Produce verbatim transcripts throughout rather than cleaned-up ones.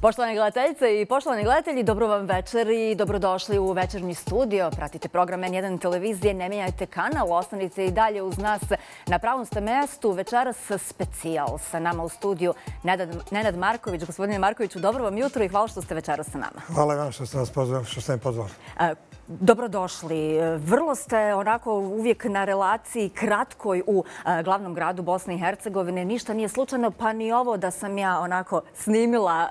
Poštovane gledateljice i poštovani gledatelji, dobro vam večer i dobrodošli u večernji studio. Pratite program en jedan televizije, ne mijenjajte kanal, ostanite i dalje uz nas. Na pravom ste mestu, večeras specijal. Sa nama u studiju Nenad Marković. Gospodine Markoviću, dobro vam jutro i hvala što ste večeras sa nama. Hvala vam što ste nas pozvali, što ste me pozvali. Dobrodošli. Vrlo ste onako uvijek na relaciji kratkoj u glavnom gradu Bosne i Hercegovine. Ništa nije slučajno, pa ni ovo da sam ja onako snimila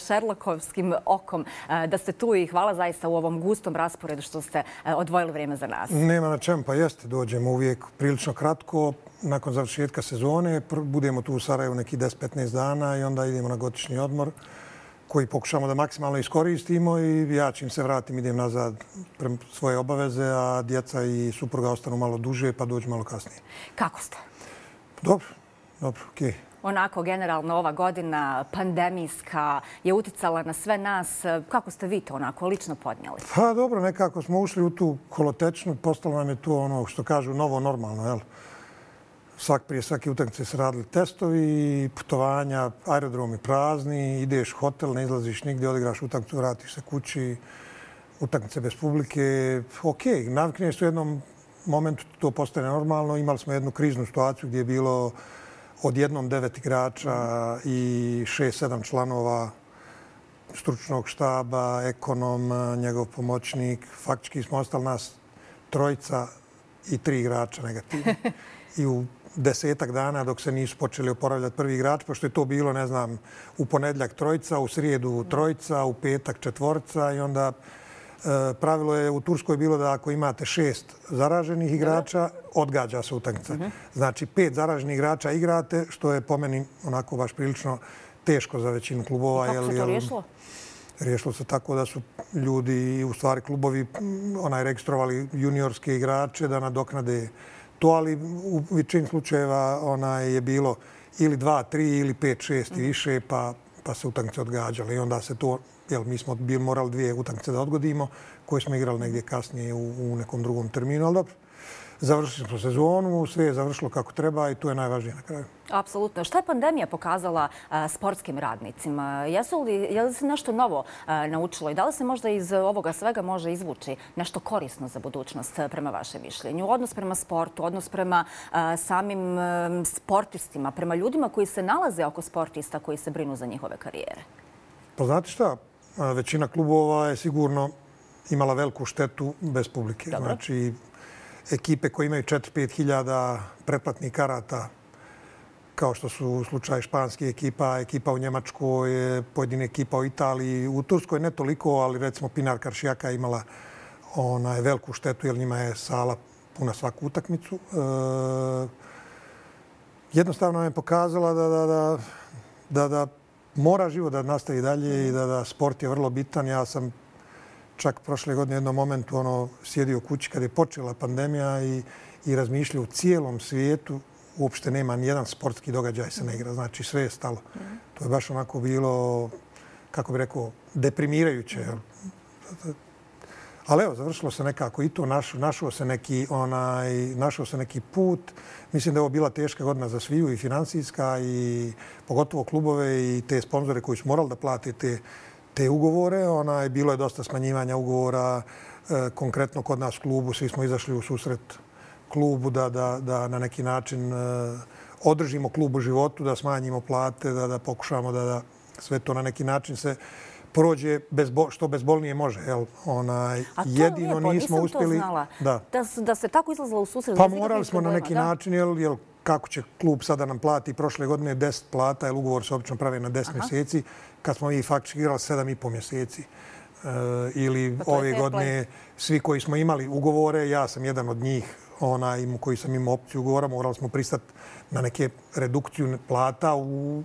šerlokovskim okom da ste tu i hvala zaista u ovom gustom rasporedu što ste odvojili vrijeme za nas. Nema na čemu, pa jeste. Dođemo uvijek prilično kratko. Nakon završetka sezone budemo tu u Sarajevu neki deset do petnaest dana i onda idemo na godišnji odmor koji pokušamo da maksimalno iskoristimo i ja čim se vratim idem nazad prema svoje obaveze, a djeca i supruga ostanu malo duže pa dođu malo kasnije. Kako ste? Dobro, dobro, okej. Onako, generalno, ova godina pandemijska je uticala na sve nas. Kako ste vi to onako lično podnijeli? Pa dobro, nekako smo ušli u tu kolotečnu, postalo nam je to ono što kažu novo normalno, jel? Svak prije svake utakmice se radili testovi, putovanja, aerodromi prazni, ideš u hotel, ne izlaziš nigdje, odigraš utakmicu, vratiš se kući, utakmice bez publike. Okej, navikneš u jednom momentu, to postane normalno. Imali smo jednu kriznu situaciju gdje je bilo odjednom devet igrača i šest, sedam članova stručnog štaba, ekonom, njegov pomoćnik. Faktički smo ostali nas trojica i tri igrača negativni. I u desetak dana dok se nisu počeli oporavljati prvi igrač, pošto je to bilo, ne znam, u ponedjeljak trojica, u srijedu trojica, u petak četvorca i onda pravilo je u Turskoj bilo da ako imate šest zaraženih igrača, odgađa se utakmica. Znači, pet zaraženih igrača igrate, što je po meni onako baš prilično teško za većinu klubova. Kako se to riješilo? Riješilo se tako da su ljudi, u stvari klubovi, onaj registrovali juniorske igrače da nadoknade to, ali u većini slučajeva onaj je bilo ili dva, tri ili pet, šest i više, pa, pa se utakmice odgađale. I onda se to, jel, mi smo bili morali dvije utakmice da odgodimo, koje smo igrali negdje kasnije u, u nekom drugom terminu, ali dobro. Završili smo sezonu, sve je završilo kako treba i to je najvažnije na kraju. Apsolutno. Šta je pandemija pokazala a, sportskim radnicima? Jesu li, je li se nešto novo a, naučilo i da li se možda iz ovoga svega može izvući nešto korisno za budućnost prema vašem mišljenju? Odnos prema sportu, odnos prema a, samim a, sportistima, prema ljudima koji se nalaze oko sportista koji se brinu za njihove karijere? Pa znate šta? Većina klubova je sigurno imala veliku štetu bez publike. Dobro. Znači, ekipe koje imaju četiri do pet hiljada pretplatnih karata, kao što su slučaj španskih ekipa, ekipa u Njemačkoj, pojedine ekipa u Italiji. U Turskoj ne toliko, ali recimo Pinar Karšijaka imala onaj veliku štetu jer njima je sala puna svaku utakmicu. E, jednostavno je pokazala da, da, da, da, da mora život da nastavi dalje i da, da sport je vrlo bitan. Ja sam čak prošle godine u jednom momentu ono, sjedio u kući kad je počela pandemija i, i razmišljao u cijelom svijetu uopšte nema nijedan sportski događaj se ne igra. Znači sve je stalo. To je baš onako bilo, kako bih rekao, deprimirajuće. Ali evo, završilo se nekako i to, našao, našao, se neki, onaj, našao se neki put. Mislim da je ovo bila teška godina za sviju i financijska i pogotovo klubove i te sponzore koji su morali da plate te te ugovore. Onaj, bilo je dosta smanjivanja ugovora. E, konkretno kod nas u klubu svi smo izašli u susret klubu da, da, da na neki način e, održimo klub u životu, da smanjimo plate, da, da pokušamo da, da sve to na neki način se prođe bezbo, što bezbolnije može. Jel? Onaj, A to jedino lijepo, nismo nisam uspjeli, to znala. Da, da, da se tako izlazila u susret. pa morali smo na neki da? način, jel, jel, kako će klub sada nam plati prošle godine deset plata, jer ugovor se obično pravi na deset Aha. mjeseci, kad smo mi faktički igrali sedam i pol mjeseci. E, ili pa ove godine svi koji smo imali ugovore, ja sam jedan od njih, onaj, koji sam imao opciju ugovora, morali smo pristati na neke redukciju plata. U,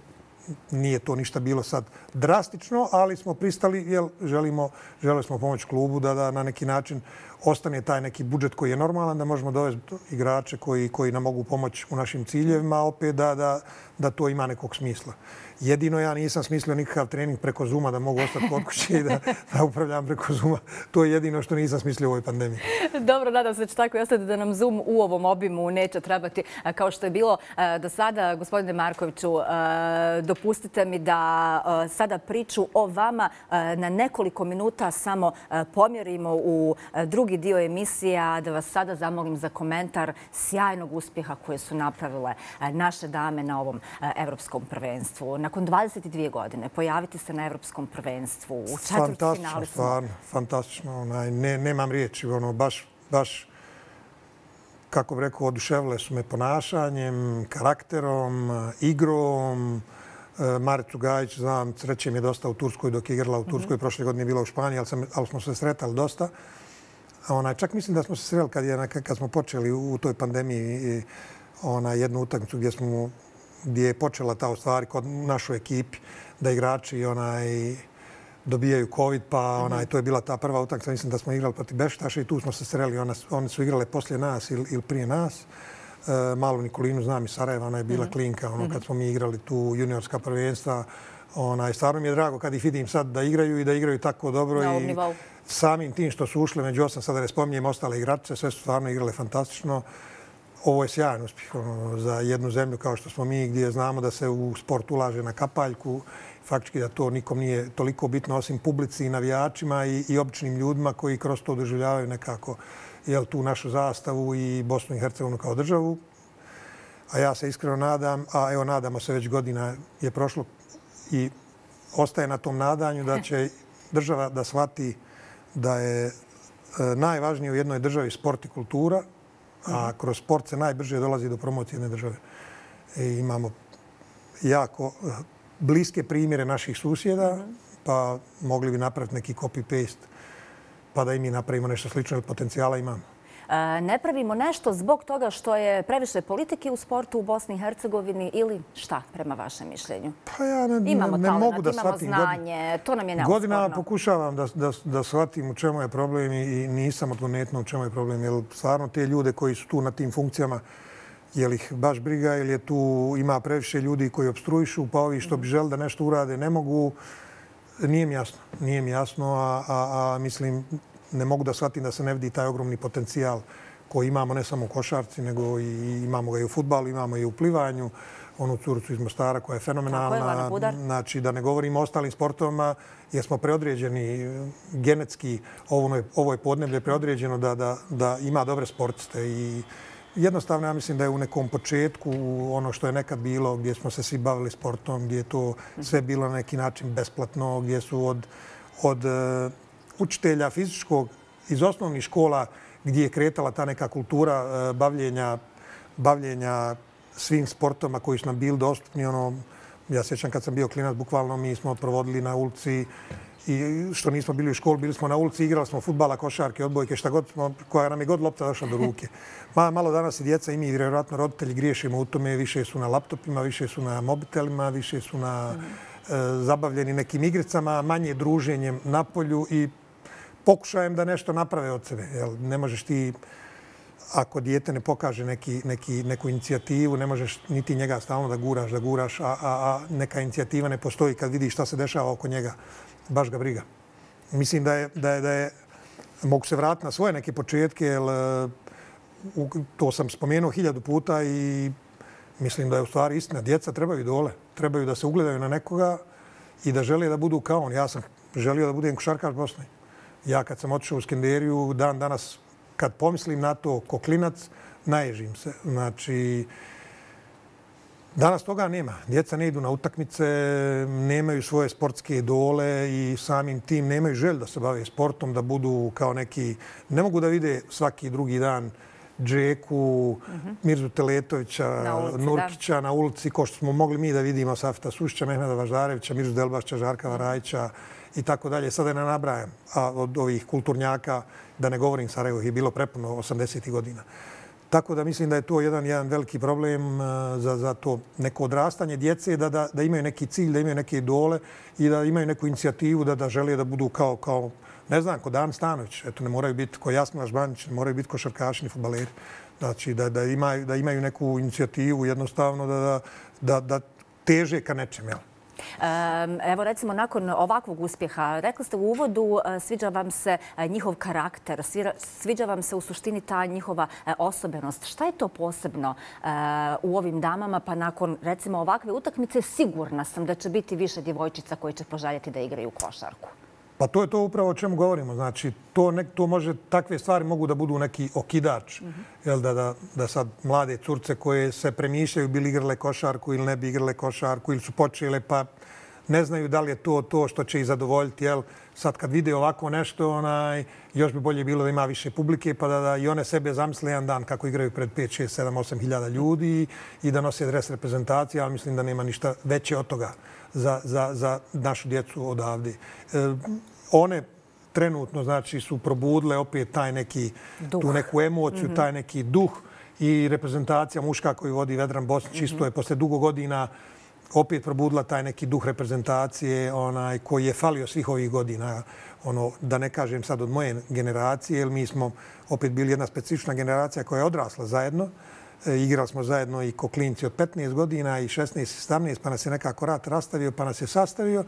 nije to ništa bilo sad drastično, ali smo pristali jer želimo, želeli smo pomoći klubu da, da na neki način ostane taj neki budžet koji je normalan, da možemo dovesti igrače koji, koji nam mogu pomoći u našim ciljevima, opet da, da, da to ima nekog smisla. Jedino ja nisam smislio nikakav trening preko Zooma da mogu ostati kod kuće i da, da upravljam preko Zooma. To je jedino što nisam smislio u ovoj pandemiji. Dobro, nadam se da će tako i ostati da nam Zoom u ovom obimu neće trebati kao što je bilo do sada. Gospodine Markoviću, dopustite mi da sada priču o vama na nekoliko minuta samo pomjerimo u drugi dio emisija, da vas sada zamolim za komentar sjajnog uspjeha koje su napravile naše dame na ovom evropskom prvenstvu. Nakon dvadeset dvije godine pojaviti se na evropskom prvenstvu u četvrtfinalu. Stvarno, fantastično. Nemam riječi, baš, baš kako bih rekao, oduševile su me ponašanjem, karakterom, igrom. Maricu Gajić, znam, sreće mi je dosta u Turskoj dok je igrala u Turskoj. Prošle godine je bila u Španiji, ali smo se sretali dosta. Čak mislim da smo se sreli kad smo počeli u toj pandemiji jednu utakmicu gdje je počela ta u stvari kod našoj ekipi da igrači dobijaju covid, pa to je bila ta prva utakmica. Mislim da smo igrali protiv Bešiktaša i tu smo se sreli. One su igrale poslije nas ili prije nas. Malu Nikolinu znam iz Sarajeva, ona je bila klinka kad smo mi igrali tu juniorska prvenstva. Stvarno mi je drago kad ih vidim sad da igraju i da igraju tako dobro. Samim tim što su ušle među osam, sada ne spominjem ostale igrače, sve su stvarno igrale fantastično. Ovo je sjajan uspjeh za jednu zemlju kao što smo mi, gdje znamo da se u sport ulaže na kapaljku. Faktički da to nikom nije toliko bitno osim publici i navijačima i običnim ljudima koji kroz to doživljavaju nekako tu našu zastavu i Bosnu i Hercegovinu kao državu. A ja se iskreno nadam, a evo nadamo se već godina je prošlo i ostaje na tom nadanju da će država da shvati da je najvažnije u jednoj državi sport i kultura, a kroz sport se najbrže dolazi do promocije jedne države. Imamo jako bliske primjere naših susjeda, pa mogli bi napraviti neki copy-paste pa da i mi napravimo nešto slično, jer potencijala imamo. Ne pravimo nešto zbog toga što je previše politike u sportu u Bosni i Hercegovini ili šta, prema vašem mišljenju? Pa ja ne mogu da shvatim. Imamo znanje, to nam je neosporno. Godinama pokušavam da shvatim u čemu je problem i nisam odgonetno u čemu je problem. Jer stvarno te ljude koji su tu na tim funkcijama, je li ih baš briga ili je tu ima previše ljudi koji opstruišu, pa ovi što bi želi da nešto urade ne mogu. Nije mi jasno. Nije mi jasno, a mislim ne mogu da shvatim da se ne vidi taj ogromni potencijal koji imamo ne samo u košarci, nego i imamo ga i u fudbalu, imamo i u plivanju. Onu curicu iz Mostara koja je fenomenalna. Znači, da ne govorimo o ostalim sportovima, jer smo preodređeni genetski. Ovo je podneblje preodređeno da ima dobre sportiste. I jednostavno, ja mislim da je u nekom početku ono što je nekad bilo, gdje smo se svi bavili sportom, gdje je to sve bilo na neki način besplatno, gdje su od učitelja fizičkog iz osnovnih škola gdje je kretala ta neka kultura bavljenja svim sportoma koji su nam bili dostupni. Ja sjećam kad sam bio klinac, bukvalno mi smo provodili na ulici i što nismo bili u školi, bili smo na ulici, igrali smo fudbala, košarke, odbojke, šta god smo, koja nam je god lopta došla do ruke. Malo danas i djeca i mi, vjerojatno roditelji griješimo u tome, više su na laptopima, više su na mobitelima, više su na zabavljeni nekim igricama, manje druženjem na polju i pokušajem da nešto naprave od sebe. Ne možeš ti, ako dijete ne pokaže neku inicijativu, ne možeš niti njega stalno da guraš, da guraš, a neka inicijativa ne postoji kad vidiš šta se dešava oko njega. Baš ga briga. Mislim da je, mogu se vratiti na svoje neke početke, jer to sam spomenuo hiljadu puta i mislim da je u stvari istina. Djeca trebaju idole, trebaju da se ugledaju na nekoga i da žele da budu kao on. Ja sam želio da budem košarkaš Bosne. Ja kad sam otišao u Skenderiju, dan danas kad pomislim na to ko klinac, naježim se. Znači, danas toga nema. Djeca ne idu na utakmice, nemaju svoje sportske idole i samim tim nemaju želju da se bave sportom, da budu kao neki... Ne mogu da vide svaki drugi dan Džeku, Mirzu Teletovića, Nurkića na ulici, ko što smo mogli mi da vidimo Safeta Sušića, Mehmeda Važdarevića, Mirzu Delbašća, Žarka Varajića i tako dalje. Sada ne nabrajam od ovih kulturnjaka, da ne govorim Sarajevo, je bilo prepuno osamdesetih godina. Tako da mislim da je to jedan, jedan veliki problem za, za to neko odrastanje djece, da, da, da imaju neki cilj, da imaju neke idole i da imaju neku inicijativu da, da žele da budu kao, kao ne znam, ko Dan Stanović. Eto, ne moraju biti ko Jasmila Žbanić, ne moraju biti košarkaši ni fudbaleri. Znači, da, da, imaju, da imaju neku inicijativu jednostavno da, da, da, da teže ka nečem, jel? Evo recimo nakon ovakvog uspjeha, rekli ste u uvodu, sviđa vam se njihov karakter, sviđa vam se u suštini ta njihova osobenost. Šta je to posebno u ovim damama, pa nakon recimo ovakve utakmice sigurna sam da će biti više djevojčica koji će poželjeti da igraju košarku? Pa to je to upravo o čemu govorimo. Znači, to, nek, to može, takve stvari mogu da budu neki okidač. Mm-hmm. Jel, da, da, da sad mlade curce koje se premišljaju bi li igrale košarku ili ne bi igrale košarku ili su počele pa ne znaju da li je to to što će ih zadovoljiti. Jel, sad kad vide ovako nešto, onaj, još bi bolje bilo da ima više publike pa da, da i one sebe zamisle jedan dan kako igraju pred pet, šest, sedam, osam hiljada ljudi i da nose dres reprezentacije, ali mislim da nema ništa veće od toga za, za, za našu djecu odavde. E, one trenutno znači su probudile opet taj neki, tu neku emociju, mm-hmm. taj neki duh i reprezentacija muška koju vodi Vedran Bosnić mm-hmm. isto je posle dugo godina opet probudila taj neki duh reprezentacije onaj, koji je falio svih ovih godina. Ono, da ne kažem sad od moje generacije, jer mi smo opet bili jedna specifična generacija koja je odrasla zajedno. E, igrali smo zajedno i ko klinci od petnaest godina i šesnaest, sedamnaest, pa nas je nekako rat rastavio, pa nas je sastavio.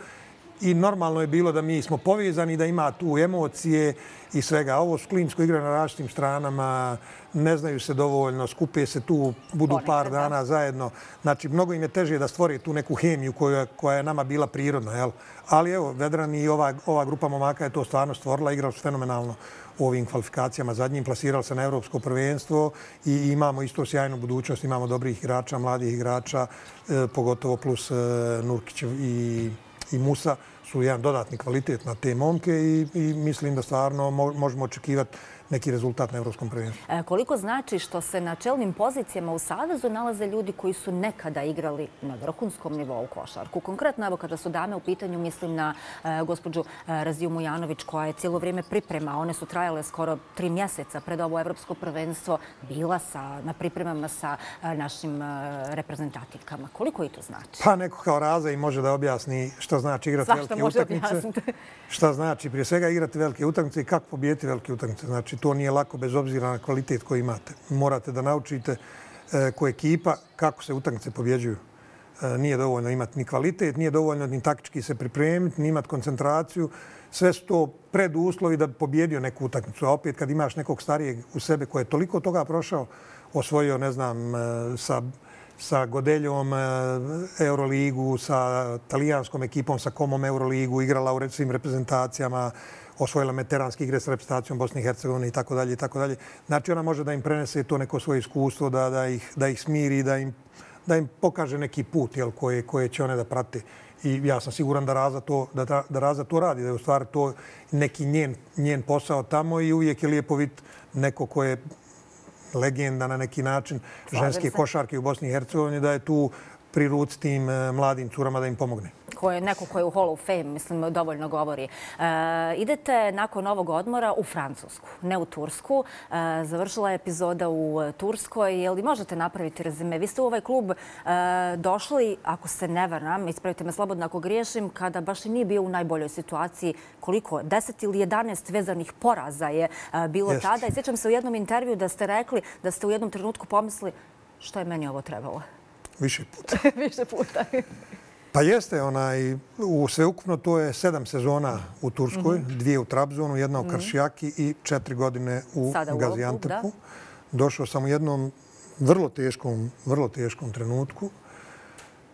I normalno je bilo da mi smo povezani, da ima tu emocije i svega. Ovo su klinci koji igraju na različitim stranama, ne znaju se dovoljno, skupe se tu, budu par dana zajedno. Znači, mnogo im je teže da stvore tu neku hemiju koja, koja je nama bila prirodna. Jel? Ali evo, Vedran i ova, ova grupa momaka je to stvarno stvorila, igrali su fenomenalno u ovim kvalifikacijama zadnjim, plasirali se na evropsko prvenstvo i imamo isto sjajnu budućnost, imamo dobrih igrača, mladih igrača, eh, pogotovo plus eh, Nurkićev i i Musa su jedan dodatni kvalitet na te momke i, i mislim da stvarno možemo očekivati neki rezultat na evropskom prvenstvu. E, koliko znači što se na čelnim pozicijama u Savezu nalaze ljudi koji su nekada igrali na vrhunskom nivou košarku? Konkretno, evo kada su dame u pitanju, mislim na e, gospođu e, Raziju Mujanović koja je cijelo vrijeme priprema. One su trajale skoro tri mjeseca pred ovo evropsko prvenstvo. Bila sa, na pripremama sa e, našim e, reprezentativkama. Koliko i to znači? Pa neko kao Raza i može da objasni što znači igrati velike utakmice. Šta znači prije svega igrati velike utakmice i kako pobijeti velike utakmice. Znači, to nije lako bez obzira na kvalitet koji imate. Morate da naučite e, ko ekipa kako se utakmice pobjeđuju. E, nije dovoljno imati ni kvalitet, nije dovoljno ni taktički se pripremiti, ni imati koncentraciju. Sve su to preduslovi da bi pobjedio neku utakmicu. A opet kad imaš nekog starijeg u sebe koji je toliko toga prošao, osvojio, ne znam, e, sa, sa Godeljom e, Euroligu, sa talijanskom ekipom, sa Komom Euroligu, igrala u svim reprezentacijama, osvojila veteranske igre s reprezentacijom Bosne i Hercegovine i tako dalje i tako dalje. Znači ona može da im prenese to neko svoje iskustvo, da, da, ih, da ih smiri, da im, da im pokaže neki put jel, koje, koje će one da prate. I ja sam siguran da Raza to, da, da Raza to radi, da je u stvari to neki njen, njen posao tamo i uvijek je lijepo vidjeti neko ko je legenda na neki način ženske košarke u Bosni i Hercegovini, da je tu pri ruci tim mladim curama da im pomogne. Ko je neko ko je u Hall of Fame, mislim, dovoljno govori. E, idete nakon ovog odmora u Francusku, ne u Tursku. E, završila je epizoda u Turskoj. Je li možete napraviti rezime? Vi ste u ovaj klub e, došli, ako se ne varam, ispravite me slobodno ako griješim, kada baš i nije bio u najboljoj situaciji. Koliko? deset ili jedanaest vezanih poraza je e, bilo Jest. tada. I sjećam se u jednom intervju da ste rekli da ste u jednom trenutku pomislili što je meni ovo trebalo. Više puta. Više puta. Pa jeste, onaj, u sveukupno to je sedam sezona u Turskoj, mm-hmm. dvije u Trabzonu, jedna u Karšijaki i četiri godine u Gaziantepu. Došao sam u jednom vrlo teškom, vrlo teškom trenutku.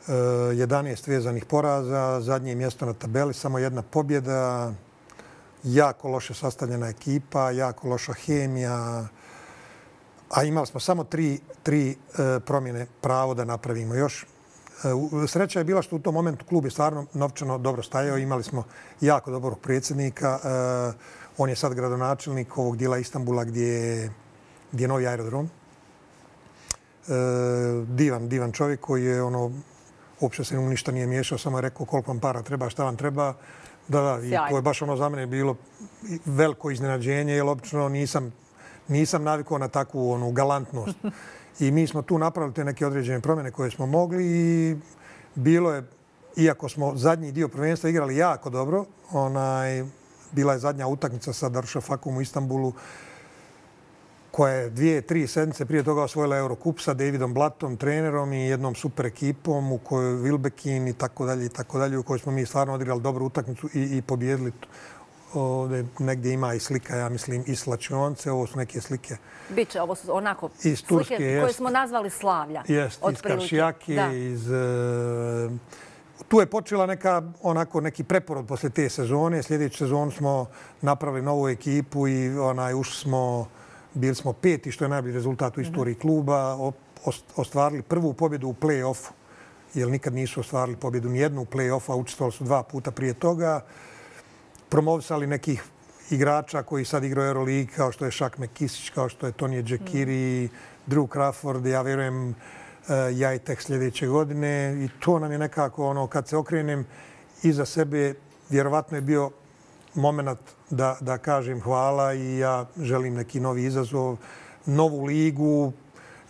E, jedanaest vezanih poraza, zadnje mjesto na tabeli, samo jedna pobjeda, jako loše sastavljena ekipa, jako loša hemija, a imali smo samo tri, tri e, promjene pravo da napravimo još. Sreća je bila što u tom momentu klub je stvarno novčano dobro stajao. Imali smo jako dobrog predsjednika. On je sad gradonačelnik ovog dijela Istanbula gdje je, gdje je novi aerodrom. Divan, divan čovjek koji je ono, uopće se mu ništa nije miješao, samo je rekao koliko vam para treba, šta vam treba. Da, da, i to je baš ono za mene bilo veliko iznenađenje, jer obično nisam, nisam navikao na takvu onu galantnost. I mi smo tu napravili te neke određene promjene koje smo mogli i bilo je, iako smo zadnji dio prvenstva igrali jako dobro, onaj, bila je zadnja utakmica sa Darüşşafakom u Istanbulu. koja je dvije, tri sedmice prije toga osvojila Eurocup sa Davidom Blattom, trenerom i jednom super ekipom u kojoj Wilbekin i tako dalje i tako dalje, u kojoj smo mi stvarno odigrali dobru utakmicu i, i pobjedili. Ovdje negdje ima i slika, ja mislim, iz slačionice. Ovo su neke slike. Biće, ovo su onako iz Turske, slike jest, koje smo nazvali slavlja. Jest, iz Karšijake, iz... Uh, tu je počela neka, onako, neki preporod posle te sezone. Sljedeću sezonu smo napravili novu ekipu i onaj, ušli smo, bili smo peti, što je najbolji rezultat u istoriji mm-hmm. kluba. O, ostvarili prvu pobjedu u play-offu, jer nikad nisu ostvarili pobjedu nijednu u play-offu, a učestvovali su dva puta prije toga. Promovisali nekih igrača koji sad igraju Euroligi, kao što je Shaq McKissić, kao što je Tony Džekiri, mm. Drew Crawford, ja vjerujem ja i tek sljedeće godine. I to nam je nekako, ono, kad se okrenem iza sebe, vjerovatno je bio moment da, da kažem hvala i ja želim neki novi izazov, novu ligu,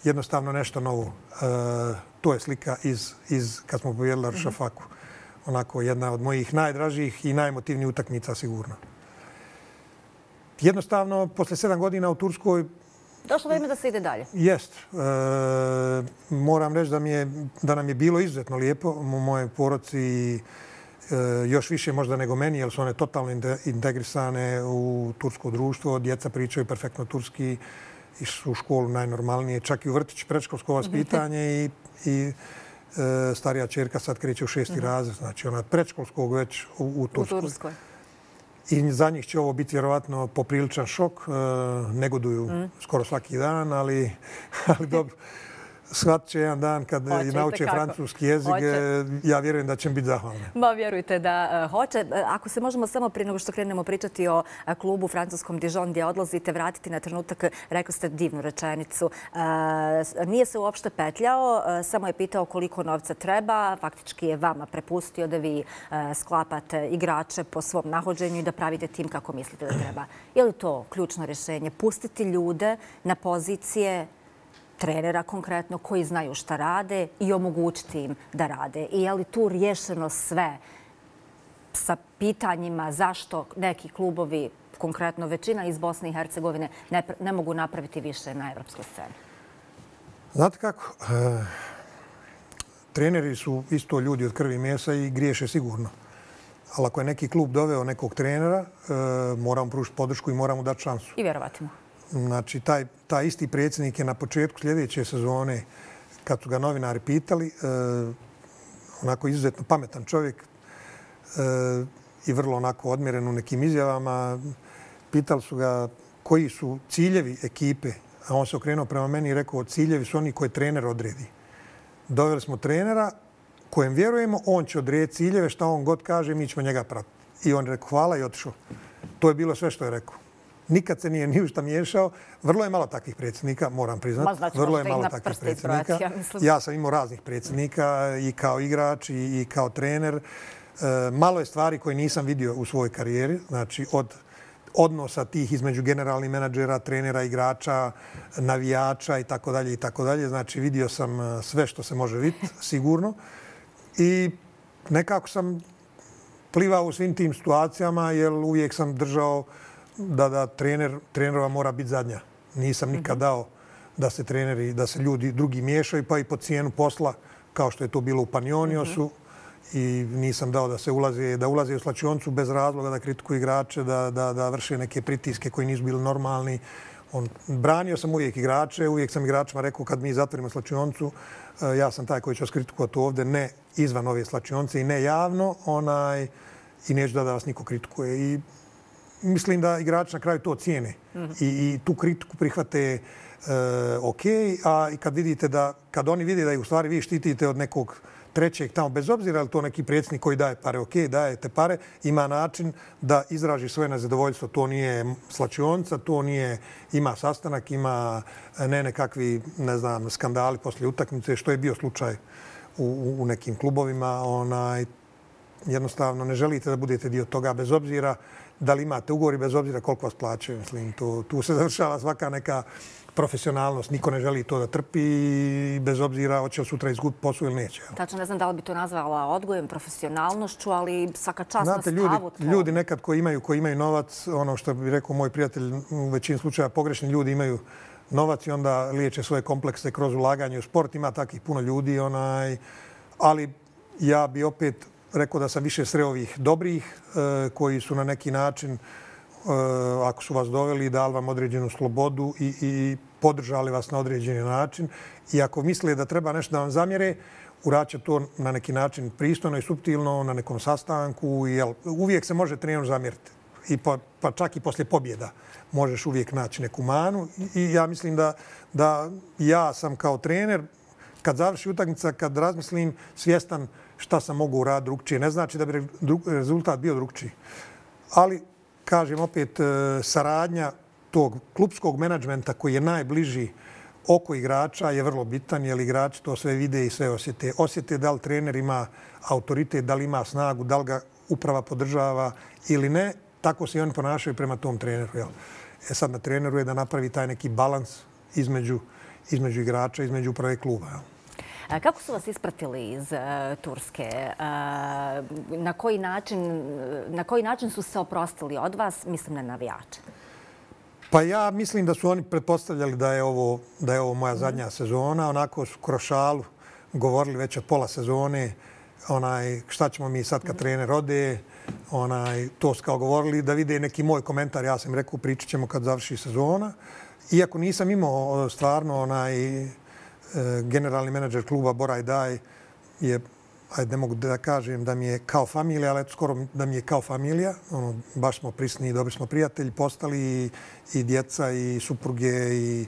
jednostavno nešto novo. E, to je slika iz, iz kad smo pobjedili Aršafaku. Onako, jedna od mojih najdražih i najmotivnijih utakmica, sigurno. Jednostavno, posle sedam godina u Turskoj... Došlo vrijeme da se ide dalje. Jest. E, moram reći da, mi je, da nam je bilo izuzetno lijepo u mojoj porodci, e, još više možda nego meni, jer su one totalno integrisane u tursko društvo. Djeca pričaju perfektno turski, išli u školu najnormalnije, čak i u vrtić, predškolsko vaspitanje i, i starija čerka sad kreće u šesti mm-hmm. razred, znači ona predškolskog već u, u Turskoj. U Turskoj. I za njih će ovo biti vjerovatno popriličan šok. E, negoduju mm. skoro svaki dan, ali, ali dobro. Shvat će jedan dan kad Hoće, i nauče francuski jezik. Hoće. Ja vjerujem da će biti zahvalni. Ma vjerujte da uh, hoće. Ako se možemo samo prije nego što krenemo pričati o uh, klubu francuskom Dijon gdje odlazite, vratiti na trenutak, rekli ste divnu rečenicu. Uh, nije se uopšte petljao, uh, samo je pitao koliko novca treba. Faktički je vama prepustio da vi uh, sklapate igrače po svom nahođenju i da pravite tim kako mislite da treba. Je li to ključno rješenje? Pustiti ljude na pozicije trenera konkretno koji znaju šta rade i omogućiti im da rade. I je li tu riješeno sve sa pitanjima zašto neki klubovi, konkretno većina iz Bosne i Hercegovine, ne, ne mogu napraviti više na evropskoj sceni? Znate kako? E, treneri su isto ljudi od krvi i mesa i griješe sigurno. Ali ako je neki klub doveo nekog trenera, e, moramo pružiti podršku i moramo dati šansu. I vjerovati mu. Znači, taj, taj isti predsjednik je na početku sljedeće sezone, kad su ga novinari pitali, e, onako izuzetno pametan čovjek e, i vrlo onako odmjeren u nekim izjavama, pitali su ga koji su ciljevi ekipe, a on se okrenuo prema meni i rekao ciljevi su oni koje trener odredi. Doveli smo trenera kojem vjerujemo, on će odrediti ciljeve, šta on god kaže, mi ćemo njega pratiti. I on je rekao hvala i otišao. To je bilo sve što je rekao. Nikad se nije ni u šta miješao. Vrlo je malo takvih predsjednika, moram priznati. Znači, Vrlo je malo takvih predsjednika. Ja, ja sam imao raznih predsjednika i kao igrač i, i kao trener. E, malo je stvari koje nisam vidio u svojoj karijeri. Znači, od odnosa tih između generalnih menadžera, trenera, igrača, navijača i tako dalje i tako dalje. Znači, vidio sam sve što se može vidjeti, sigurno. I nekako sam plivao u svim tim situacijama, jer uvijek sam držao da, da trener, trenerova mora biti zadnja. Nisam nikad dao da se treneri, da se ljudi drugi miješaju, pa i po cijenu posla, kao što je to bilo u Panioniosu. Mm-hmm. I nisam dao da se ulaze, da ulaze u slačioncu bez razloga, da kritikuju igrače, da, da, da vrše neke pritiske koji nisu bili normalni. On, branio sam uvijek igrače, uvijek sam igračima rekao kad mi zatvorimo slačioncu, ja sam taj koji će vas kritikovati ovdje, ne izvan ove slačionce i ne javno, onaj, i neću da, da vas niko kritikuje. I mislim da igrači na kraju to cijene mm-hmm. I, i tu kritiku prihvate e, ok, a i kad vidite da, kad oni vide da ih u stvari vi štitite od nekog trećeg tamo, bez obzira je li to neki predsjednik koji daje pare, ok, dajete pare, ima način da izraži svoje nezadovoljstvo. To nije slačionca, to nije, ima sastanak, ima ne nekakvi, ne znam, skandali poslije utakmice, što je bio slučaj u, u nekim klubovima. Onaj, jednostavno ne želite da budete dio toga, bez obzira da li imate ugovor i bez obzira koliko vas plaćaju. Mislim, tu, tu se završava svaka neka profesionalnost. Niko ne želi to da trpi i bez obzira hoće li sutra izgubiti posao ili neće. Tačno, ne znam da li bi to nazvala odgojem, profesionalnošću, ali svaka čast na Znate, stavu. Ljudi, ljudi nekad koji imaju, koji imaju novac, ono što bi rekao moj prijatelj, u većini slučaja pogrešni ljudi imaju novac i onda liječe svoje komplekse kroz ulaganje u sport. Ima takvih puno ljudi, onaj, ali ja bi opet rekao da sam više sreo ovih dobrih e, koji su na neki način, e, ako su vas doveli, dali vam određenu slobodu i, i podržali vas na određeni način. I ako misle da treba nešto da vam zamjere, uraće to na neki način pristojno i suptilno, na nekom sastanku. Jel, uvijek se može treneru zamjeriti. I pa, pa čak i poslije pobjeda možeš uvijek naći neku manu. I, i ja mislim da, da ja sam kao trener, kad završi utakmica, kad razmislim, svjestan šta sam mogu uraditi drugčije. Ne znači da bi rezultat bio drugčiji. Ali, kažem opet, saradnja tog klubskog menadžmenta koji je najbliži oko igrača je vrlo bitan, jer igrači to sve vide i sve osjete. Osjete da li trener ima autoritet, da li ima snagu, da li ga uprava podržava ili ne. Tako se i oni ponašaju prema tom treneru. Jel? E sad na treneru je da napravi taj neki balans između, između igrača, između uprave kluba. Jel? Kako su vas ispratili iz uh, Turske? Uh, na, koji način, na koji način su se oprostili od vas? Mislim na navijače. Pa ja mislim da su oni pretpostavljali da je ovo, da je ovo moja zadnja mm. sezona. Onako su kroz šalu govorili već od pola sezone onaj, šta ćemo mi sad kad mm. trener ode. Onaj, to su kao govorili da vide neki moj komentar. Ja sam rekao pričat ćemo kad završi sezona. Iako nisam imao stvarno onaj, generalni menadžer kluba Boraj Daj je, ajde ne mogu da kažem da mi je kao familija, ali skoro da mi je kao familija. Ono, baš smo prisni i dobri smo prijatelji postali i, i djeca i supruge i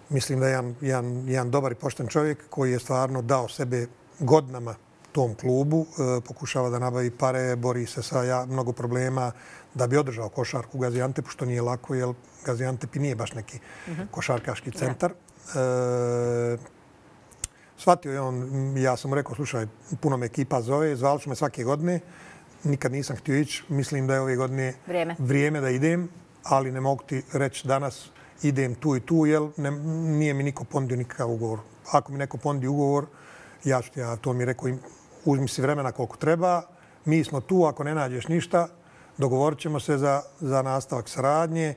mislim da je jedan, jedan, jedan dobar i pošten čovjek koji je stvarno dao sebe godinama tom klubu. E, pokušava da nabavi pare, bori se sa ja, mnogo problema da bi održao košarku u Gaziantepu, što nije lako, jer Gaziantep i nije baš neki mm-hmm. košarkaški centar. E, shvatio je on, ja sam mu rekao, slušaj, puno me ekipa zove, zvali su me svake godine, nikad nisam htio ići, mislim da je ove godine vrijeme, vrijeme da idem, ali ne mogu ti reći danas idem tu i tu, jer ne, nije mi niko ponudio nikakav ugovor. Ako mi neko ponudi ugovor, ja ću ti, ja to mi rekao, uzmi si vremena koliko treba, mi smo tu, ako ne nađeš ništa, dogovorit ćemo se za, za nastavak saradnje.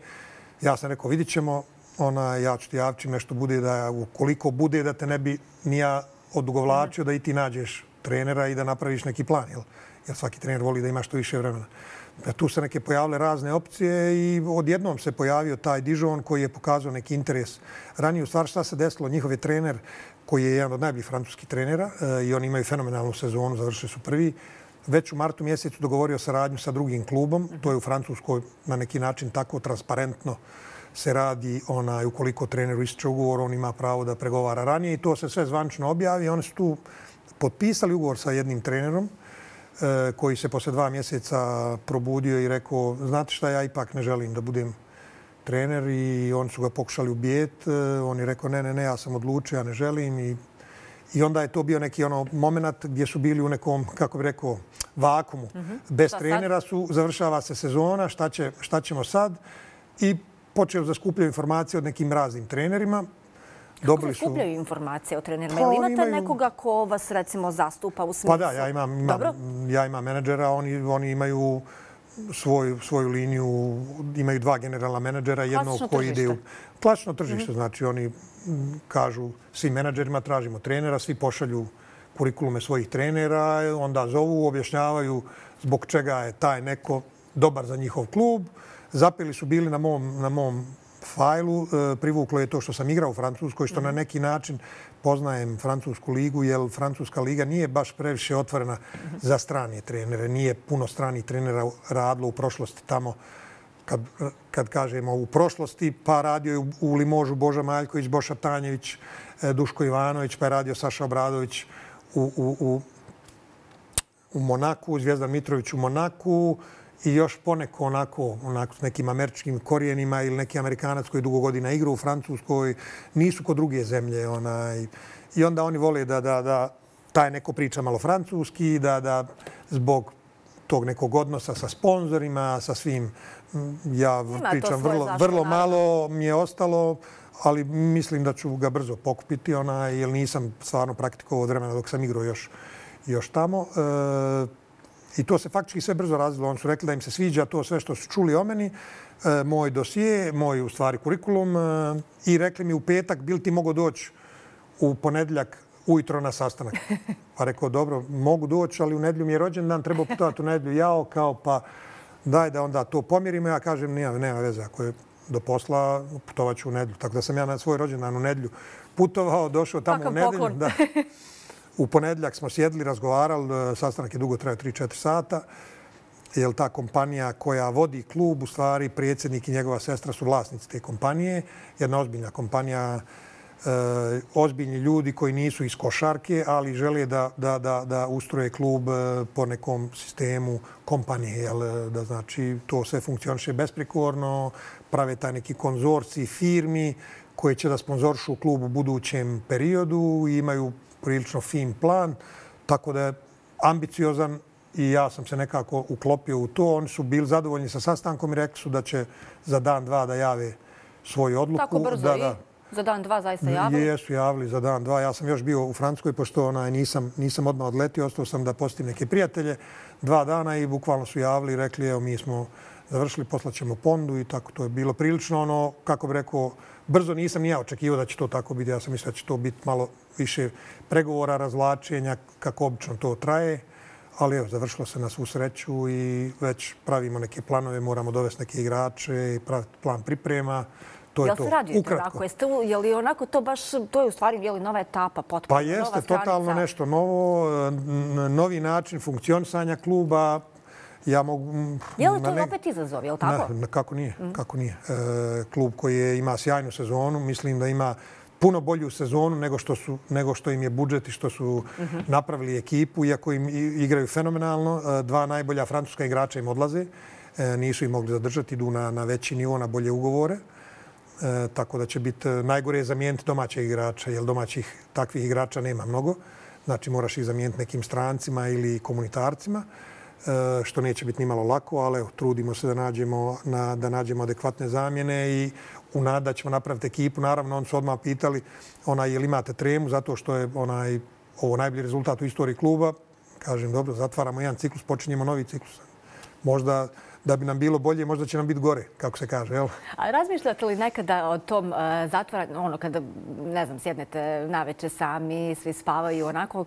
Ja sam rekao, vidit ćemo, ona, ja ću ti javiti nešto bude da, ukoliko bude da te ne bi ni ja odugovlačio, da i ti nađeš trenera i da napraviš neki plan, jel? Jer svaki trener voli da ima što više vremena. Tu se neke pojavile razne opcije i odjednom se pojavio taj Dijon koji je pokazao neki interes. Ranije, u stvari, šta se desilo? Njihov je trener koji je jedan od najboljih francuskih trenera i oni imaju fenomenalnu sezonu, završili su prvi. Već u martu mjesecu dogovorio saradnju sa drugim klubom. To je u Francuskoj na neki način tako transparentno se radi. Onaj, ukoliko treneru ističe ugovor, on ima pravo da pregovara ranije i to se sve zvančno objavi. Oni su tu potpisali ugovor sa jednim trenerom koji se posle dva mjeseca probudio i rekao, znate šta, ja ipak ne želim da budem trener, i oni su ga pokušali ubijeti. On je rekao, ne, ne, ne, ja sam odlučio, ja ne želim. I, i onda je to bio neki ono moment gdje su bili u nekom, kako bi rekao, vakumu. Mm-hmm. Bez šta trenera su, završava se sezona, šta, će, šta ćemo sad? I počeo da skupljaju informacije od nekim raznim trenerima. Kako se skupljaju informacije o trenerima? Ili imate imaju... nekoga ko vas, recimo, zastupa u smislu? Pa da, ja imam, imam, ja imam menadžera, oni, oni imaju svoju, svoju liniju, imaju dva generalna menadžera, jednog koji ide u klasično tržište. Mm-hmm. Znači, oni kažu svim menadžerima, tražimo trenera, svi pošalju kurikulume svojih trenera, onda zovu, objašnjavaju zbog čega je taj neko dobar za njihov klub. Zapeli su bili na mom, na mom fajlu, privuklo je to što sam igrao u Francuskoj, što na neki način poznajem Francusku ligu, jer Francuska liga nije baš previše otvorena za strane trenere. Nije puno stranih trenera radilo u prošlosti tamo, kad, kad kažemo u prošlosti, pa radio je u Limožu Boža Maljković, Boša Tanjević, Duško Ivanović, pa je radio Saša Obradović u, u, u, u Monaku, Zvijezdan Mitrović u Monaku, i još poneko onako, onako s nekim američkim korijenima ili neki Amerikanac koji dugo godina igra u Francuskoj, nisu kod druge zemlje. Onaj. I onda oni vole da, da, da taj neko priča malo francuski, da, da zbog tog nekog odnosa sa sponzorima, sa svim. Ja Ima pričam to svoje vrlo, zašto, vrlo naravno. malo mi je ostalo, ali mislim da ću ga brzo pokupiti, onaj, jer nisam stvarno praktikovao od vremena dok sam igrao još, još tamo. E, I to se faktički sve brzo razvilo. Oni su rekli da im se sviđa to sve što su čuli o meni, e, moj dosije, moj u stvari kurikulum, e, i rekli mi u petak bil ti mogu doći u ponedjeljak ujutro na sastanak. Pa rekao, dobro, mogu doći, ali u nedjelju mi je rođendan, treba putovati u nedjelju. Jao, kao pa daj da onda to pomirimo. Ja kažem, nema, nema veze, ako je do posla, putovat ću u nedjelju. Tako da sam ja na svoj rođendan u nedjelju putovao, došao tamo u nedjelju. Da. U ponedjeljak smo sjedli, razgovarali, sastanak je dugo trajao tri četiri sata. Jer ta kompanija koja vodi klub, u stvari predsjednik i njegova sestra su vlasnici te kompanije. Jedna ozbiljna kompanija, e, ozbiljni ljudi koji nisu iz košarke, ali žele da, da, da, da ustroje klub po nekom sistemu kompanije. Jel, da znači to sve funkcioniše besprijekorno, prave taj neki konzorcij firmi koji će da sponzoršu klub u budućem periodu i imaju prilično fin plan, tako da je ambiciozan i ja sam se nekako uklopio u to. Oni su bili zadovoljni sa sastankom i rekli su da će za dan, dva da jave svoju odluku. Tako brzo da, i da. za dan, dva zaista javili? Jesu javili za dan, dva. Ja sam još bio u Francuskoj, pošto onaj, nisam, nisam odmah odletio, ostao sam da posjetim neke prijatelje dva dana i bukvalno su javili i rekli, evo mi smo završili, poslaćemo pondu i tako to je bilo prilično ono, kako bi rekao, brzo nisam ni ja očekivao da će to tako biti. Ja sam mislio da će to biti malo više pregovora, razvlačenja, kako obično to traje. Ali evo, završilo se na svu sreću i već pravimo neke planove, moramo dovesti neke igrače i praviti plan priprema. To je jel to. se radujete Ukratko. onako? Jeste, je li onako to baš, to je u stvari je li nova etapa, potpuno Pa jeste, nova stranica? totalno nešto novo, novi način funkcionisanja kluba. Ja mogu... Je li to opet izazov, je li tako? Ne, kako nije, mm. kako nije. E, klub koji je, ima sjajnu sezonu, mislim da ima puno bolju sezonu nego što, su, nego što im je budžet i što su mm-hmm. napravili ekipu, iako im igraju fenomenalno. Dva najbolja francuska igrača im odlaze, e, nisu im mogli zadržati, idu na, na veći nivo, na bolje ugovore. E, tako da će biti najgore je zamijeniti domaćeg igrača, jer domaćih takvih igrača nema mnogo. Znači moraš ih zamijeniti nekim strancima ili komunitarcima, e, što neće biti nimalo lako, ali evo, trudimo se da nađemo, na, da nađemo adekvatne zamjene i u nadi da ćemo napraviti ekipu. Naravno, oni su odmah pitali onaj, je li imate tremu, zato što je onaj, ovo najbolji rezultat u istoriji kluba. Kažem, dobro, zatvaramo jedan ciklus, počinjemo novi ciklus. Možda da bi nam bilo bolje, možda će nam biti gore, kako se kaže, jel? A razmišljate li nekada o tom uh, zatvaranju, ono kada, ne znam, sjednete naveče sami, svi spavaju, onako,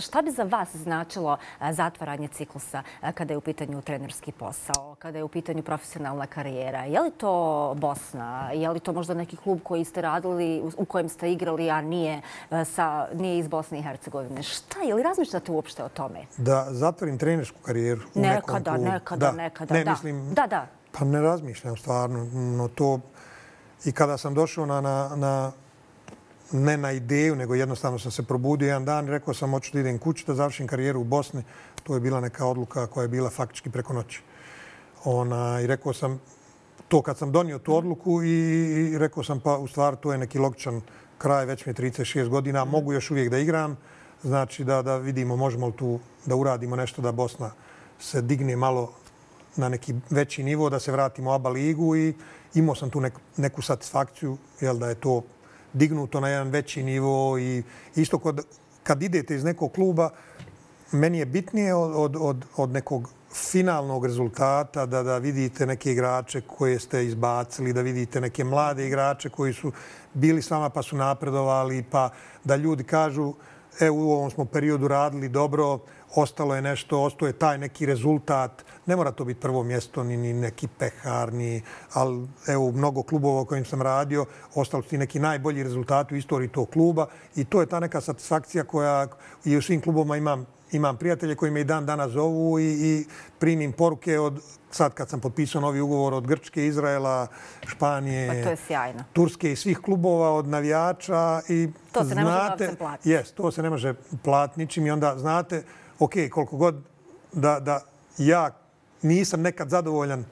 šta bi za vas značilo uh, zatvaranje ciklusa uh, kada je u pitanju trenerski posao, kada je u pitanju profesionalna karijera? Je li to Bosna? Je li to možda neki klub koji ste radili, u, u kojem ste igrali, a nije, uh, sa, nije iz Bosne i Hercegovine? Šta? Je li razmišljate uopšte o tome? Da zatvorim trenersku karijeru u nekada, nekom klubu? Nekada, da. nekada, ne, da. Mislim, da, da. Pa ne razmišljam stvarno. No to, i kada sam došao na, na, na, ne na ideju, nego jednostavno sam se probudio jedan dan i rekao sam hoću da idem kući, da završim karijeru u Bosni. To je bila neka odluka koja je bila faktički preko noći. Ona, I rekao sam to kad sam donio tu odluku i, i rekao sam pa u stvari to je neki logičan kraj, već mi je trideset šest godina, mogu još uvijek da igram. Znači da, da vidimo možemo li tu da uradimo nešto da Bosna se digne malo na neki veći nivo, da se vratimo u A B A ligu i imao sam tu neku, neku satisfakciju, jel, da je to dignuto na jedan veći nivo i isto kod, kad idete iz nekog kluba, meni je bitnije od, od, od, od nekog finalnog rezultata da, da vidite neke igrače koje ste izbacili, da vidite neke mlade igrače koji su bili s vama pa su napredovali, pa da ljudi kažu e, u ovom smo periodu radili dobro, ostalo je nešto, ostao je taj neki rezultat. Ne mora to biti prvo mjesto, ni, ni neki pehar, ni, ali evo, mnogo klubova u kojim sam radio, ostali su ti neki najbolji rezultati u istoriji tog kluba i to je ta neka satisfakcija koja i u svim klubovima imam, imam prijatelje koji me i dan danas zovu i, i primim poruke od, sad kad sam potpisao novi ugovor od Grčke, Izraela, Španije, pa to je sjajno. Turske i svih klubova, od navijača i to se znate, ne može novcem platiti. Yes, to se ne može platiti ničim i onda znate, ok, koliko god da, da ja nisam nekad zadovoljan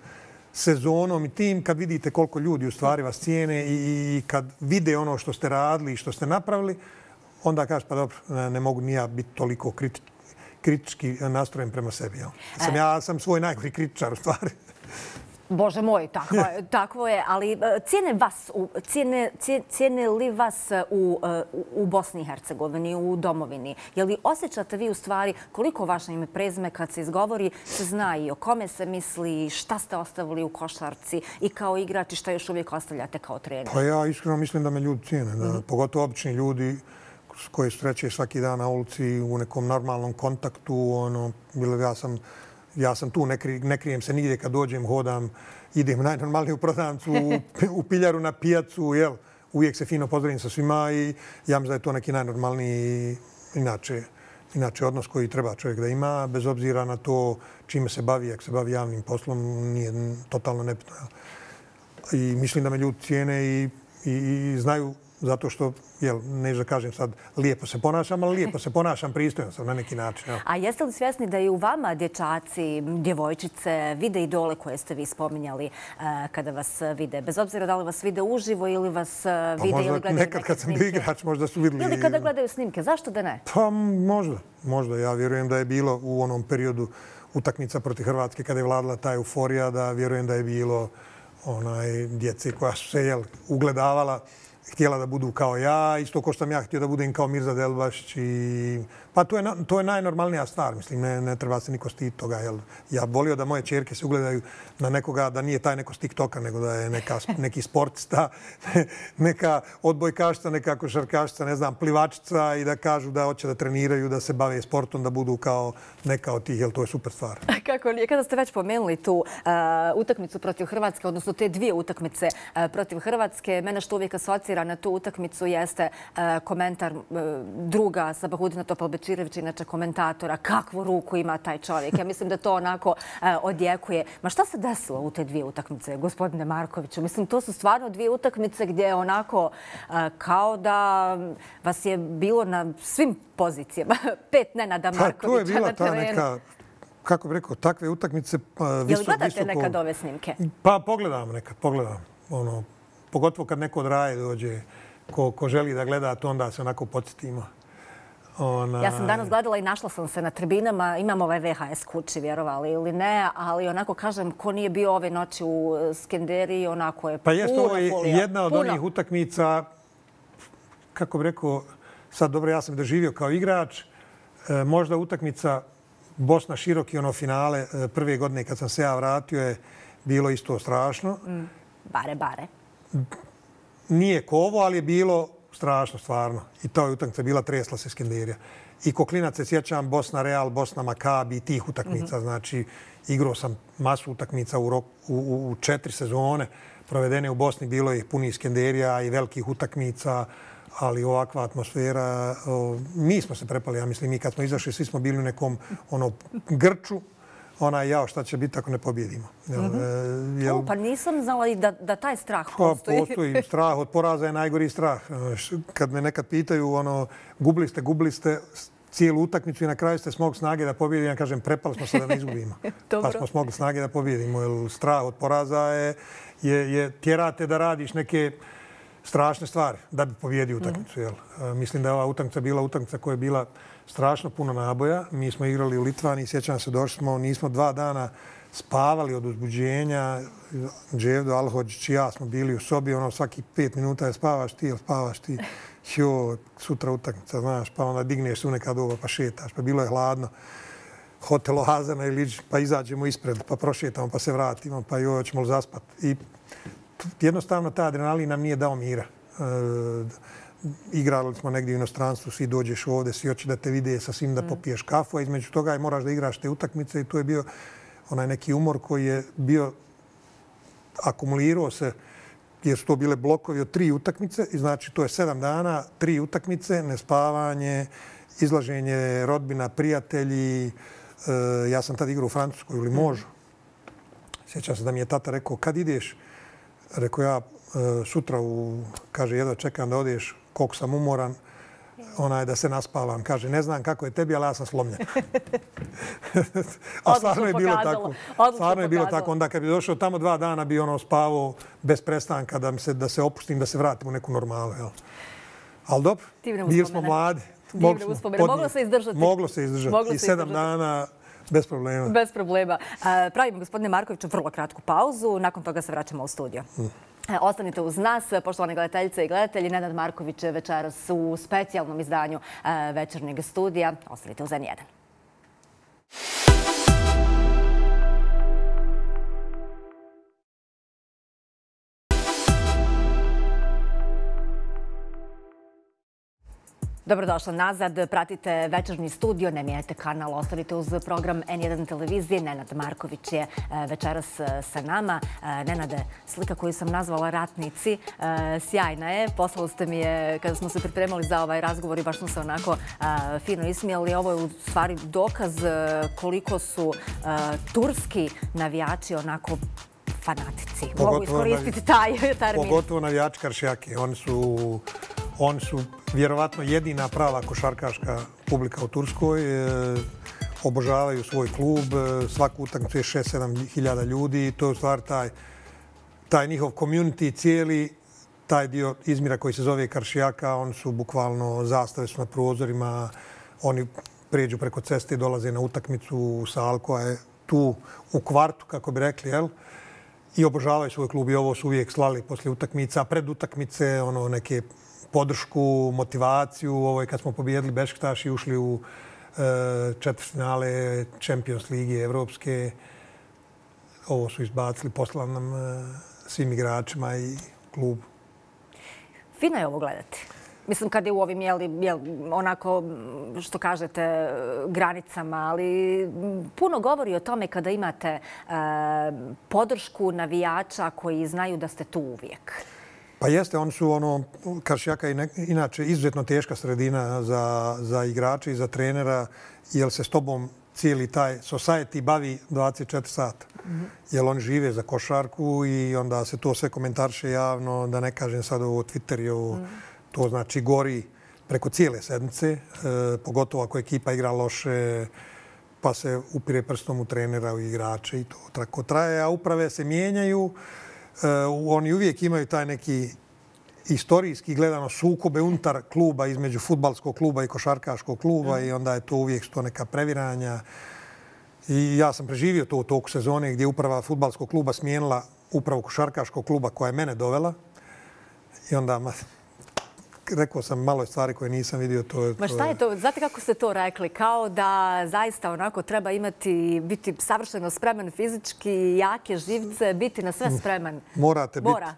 sezonom i tim, kad vidite koliko ljudi u stvari vas cijene i, i kad vide ono što ste radili i što ste napravili, onda kažeš pa dobro, ne, ne mogu ni ja biti toliko kriti, kritički nastrojen prema sebi. Sam, ja sam svoj najgori kritičar u stvari. Bože moj, tako je, tako je. Ali cijene vas, cijene, cijene li vas u, u Bosni i Hercegovini, u domovini? Je li osjećate vi u stvari koliko vaše ime prezime kad se izgovori se zna i o kome se misli, šta ste ostavili u košarci i kao igrač i šta još uvijek ostavljate kao trener? Pa ja iskreno mislim da me ljudi cijene. Da, mm-hmm. Pogotovo obični ljudi koji sreće svaki dan na ulici u nekom normalnom kontaktu. Ono, ja sam Ja sam tu, ne, kri, ne krijem se nigdje kad dođem, hodam, idem najnormalnije u prodavnicu, u, u piljaru na pijacu, jel? Uvijek se fino pozdravim sa svima i ja mislim da je to neki najnormalniji inače, inače odnos koji treba čovjek da ima, bez obzira na to čime se bavi, ako se bavi javnim poslom, nije totalno nebitno. I mislim da me ljudi cijene i, i, i znaju zato što, jel, neću da kažem sad, lijepo se ponašam, ali lijepo se ponašam, pristojno sam na neki način. Jel. A jeste li svjesni da i u vama dječaci, djevojčice, vide idole koje ste vi spominjali uh, kada vas vide? Bez obzira da li vas vide uživo ili vas uh, vide pa ili gledaju nekad kad sam bio igrač možda su vidjeli. Ili kada gledaju snimke, zašto da ne? Pa možda, možda. Ja vjerujem da je bilo u onom periodu utakmica protiv Hrvatske kada je vladala ta euforija, da vjerujem da je bilo onaj djece koja su se, jel, ugledavala, htjela da budu kao ja, isto ko što sam ja htio da budem kao Mirza Delbašić. I... Pa to je, to je najnormalnija stvar, mislim, ne, ne treba se niko stiti toga. Jel? Ja volio da moje čerke se ugledaju na nekoga, da nije taj neko s TikToka, nego da je neka, neki sportista, neka odbojkašca, neka košarkašca, ne znam, plivačica i da kažu da hoće da treniraju, da se bave sportom, da budu kao neka od tih, jel to je super stvar. Kako je, kada ste već pomenuli tu uh, utakmicu protiv Hrvatske, odnosno te dvije utakmice uh, protiv Hrvatske, mene što uvijek asocira na tu utakmicu jeste uh, komentar uh, druga Sabahudina Topalbečirevića, inače komentatora, kakvu ruku ima taj čovjek. Ja mislim da to onako uh, odjekuje. Ma šta se desilo u te dvije utakmice, gospodine Markoviću? Mislim, to su stvarno dvije utakmice gdje onako uh, kao da vas je bilo na svim pozicijama. Pet Nenada Markovića na terenu. Neka, kako bih rekao, takve utakmice visoko... Je li gledate visoko... nekad ove snimke? Pa pogledam nekad, pogledam. Ono, pogotovo kad neko od raje dođe, ko, ko želi da gleda, to onda se onako podsjetimo. Ona... Ja sam danas gledala i našla sam se na tribinama. Imam ovaj V H S kući, vjerovali ili ne, ali onako kažem, ko nije bio ove noći u Skenderiji, onako je pa puno jest, ovo je folija. jedna od puno. onih utakmica, kako bih rekao, sad dobro, ja sam doživio kao igrač, e, možda utakmica Bosna Široki, ono finale prve godine kad sam se ja vratio je bilo isto strašno. Mm, bare, bare. Nije ko ovo, ali je bilo strašno, stvarno. I to je utakmica bila, tresla se Skenderija. I ko klinac se sjećam Bosna Real, Bosna Makabi, tih utakmica. Mm-hmm. Znači, igrao sam masu utakmica u, rok, u, u, u četiri sezone. Provedene u Bosni, bilo je punih Skenderija i velikih utakmica, ali ovakva atmosfera. O, mi smo se prepali, ja mislim, mi kad smo izašli, svi smo bili u nekom ono, grču. Ona je jao šta će biti ako ne pobjedimo. Jel, mm-hmm. jel... O, pa nisam znala i da, da taj strah postoji. Pa, postoji. Strah od poraza je najgori strah. Kad me nekad pitaju, ono, gubili ste, gubili ste cijelu utakmicu i na kraju ste smogli snage da pobjedimo, ja kažem, prepali smo se da ne izgubimo. Pa smo smogli snage da pobjedimo. Jer strah od poraza je, je, je tjerate da radiš neke strašne stvari da bi pobjedio utakmicu. Jel? Mislim da je ova utakmica bila utakmica koja je bila strašno puno naboja. Mi smo igrali u Litvani, sjećam se, došli smo, nismo dva dana spavali od uzbuđenja. Dževdo, Alhođić i ja smo bili u sobi, ono svaki pet minuta je spavaš ti ili spavaš ti. Jo, sutra utakmica, znaš, pa onda digneš se u neka doba pa šetaš, pa bilo je hladno. Hotel Oazana ili pa izađemo ispred, pa prošetamo, pa se vratimo, pa joj, hoćemo li zaspati. I jednostavno ta adrenalin nam nije dao mira. E, igrali smo negdje u inostranstvu, svi dođeš ovdje, svi hoće da te vide sa svim da popiješ kafu, a između toga moraš da igraš te utakmice i to je bio onaj neki umor koji je bio akumulirao se, jer su to bile blokovi od tri utakmice i znači to je sedam dana, tri utakmice, nespavanje, izlaženje rodbina, prijatelji. E, ja sam tad igrao u Francuskoj ili možu. Sjećam se da mi je tata rekao, kad ideš? Rekao ja, sutra, u, kaže, jedva čekam da odeš, koliko sam umoran, onaj da se naspavam. Kaže, ne znam kako je tebi, ali ja sam slomljen. A stvarno je bilo tako. Stvarno je bilo tako. Onda kad bi došao tamo dva dana, bi ono spavao bez prestanka da, se, da se opustim, da se vratim u neku normalu. Jel? Ali dobro, bili smo mladi. divne uspomene. Moglo se izdržati. Moglo se izdržati. I sedam dana bez problema. Bez problema. Pravimo, gospodine Markoviću, vrlo kratku pauzu. Nakon toga se vraćamo u studio. Ostanite uz nas, poštovane gledateljice i gledatelji. Nenad Marković večeras u specijalnom izdanju Večernjeg studija. Ostanite uz N jedan. Dobrodošla nazad. Pratite Večernji studio, ne mijenjajte kanal, ostanite uz program N jedan televizije. Nenad Marković je večeras sa nama. Nenade, slika koju sam nazvala Ratnici, sjajna je. Poslali ste mi je kada smo se pripremali za ovaj razgovor i baš smo se onako fino ismijali. Ovo je u stvari dokaz koliko su turski navijači onako fanatici. Mogu iskoristiti taj termin. Pogotovo navijači Karšijake. Oni su... Oni su vjerovatno jedina prava košarkaška publika u Turskoj. Obožavaju svoj klub. Svaku utakmicu je šest sedam hiljada ljudi. To je u stvari taj, taj njihov community cijeli, taj dio Izmira koji se zove Karšijaka. Oni su bukvalno, zastave su na prozorima. Oni prijeđu preko ceste i dolaze na utakmicu. Sal koja je tu u kvartu, kako bi rekli, jel? I obožavaju svoj klub i ovo su uvijek slali poslije utakmica. Pred utakmice, ono, neke podršku, motivaciju. Ovo je kad smo pobijedili Bešiktaš i ušli u četvrtfinale Champions Lige evropske. Ovo su izbacili, poslali nam svim igračima i klubu. Fino je ovo gledati. Mislim, kad je u ovim, jel, jel, onako, što kažete, granicama, ali puno govori o tome kada imate e, podršku navijača koji znaju da ste tu uvijek. Pa jeste, oni su ono, Karšijaka je inače izuzetno teška sredina za, za igrače i za trenera, jer se s tobom cijeli taj society bavi dvadeset četiri sata. Mm-hmm. Jer oni žive za košarku i onda se to sve komentarše javno, da ne kažem sad ovo Twitter i ovo, mm. to znači gori preko cijele sedmice, e, pogotovo ako ekipa igra loše, pa se upire prstom u trenera, u igrače i to tako traje, a uprave se mijenjaju. Uh, oni uvijek imaju taj neki istorijski gledano sukobe unutar kluba između fudbalskog kluba i košarkaškog kluba mm. i onda je to uvijek to neka previranja. I ja sam preživio to u toku sezone gdje je uprava fudbalskog kluba smijenila upravu košarkaškog kluba koja je mene dovela. I onda ma, rekao sam malo stvari koje nisam vidio. To je, Ma šta je to? Znate kako ste to rekli? Kao da zaista onako treba imati, biti savršeno spreman fizički, jake živce, biti na sve spreman. Morate Mora.